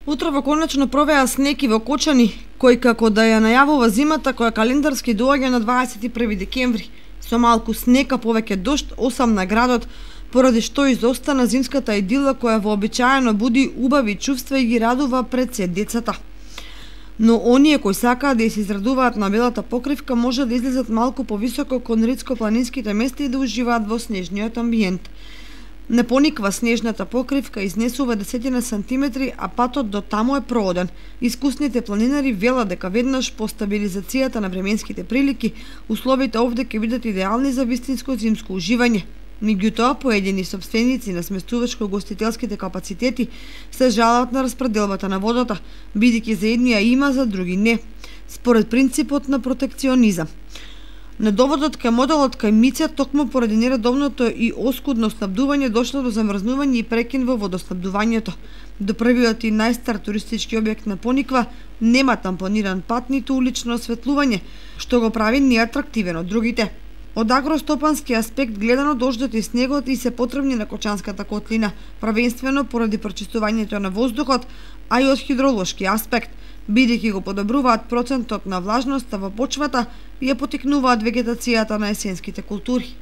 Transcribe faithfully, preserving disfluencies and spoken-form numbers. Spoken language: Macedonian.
Утрово конечно провеа снег и во Кочани, кој како да ја најавува зимата која календарски доаѓа на дваесет и први декември. Со малку снег, а повеќе дожд, осам на градот, поради што изостана зимската идила која вообичаено буди убави чувства и ги радува пред се децата. Но оние кои сакаат да се израдуваат на белата покривка може да излезат малку повисоко кон ридско-планинските места и да уживаат во снежниот амбиент. Не пониква снежната покривка, изнесува десетина сантиметри, а патот до таму е прооден. Искусните планинари велат дека веднаш по стабилизацијата на временските прилики, условите овде ќе бидат идеални за вистинско зимско уживање. Меѓутоа, поедини сопственици на сместувачко-гостителските капацитети се жалат на распределбата на водата, бидејќи за едни ја има, за други не, според принципот на протекционизам. Недоводот кај моделот кај Мица токму поради нередовното и оскудно снабдување дошло до замрзнување и прекин во водоснабдувањето. До првиот и најстар туристички објект на Пониква нема тампониран пат ниту улично осветлување, што го прави неатрактивен од другите. Од агростопански аспект гледано, дождот и снегот и се потребни на Кочанската котлина, правенствено поради прочистувањето на воздухот, а и од хидролошки аспект, бидејќи го подобруваат процентот на влажноста во почвата и ја поттикнуваат вегетацијата на есенските култури.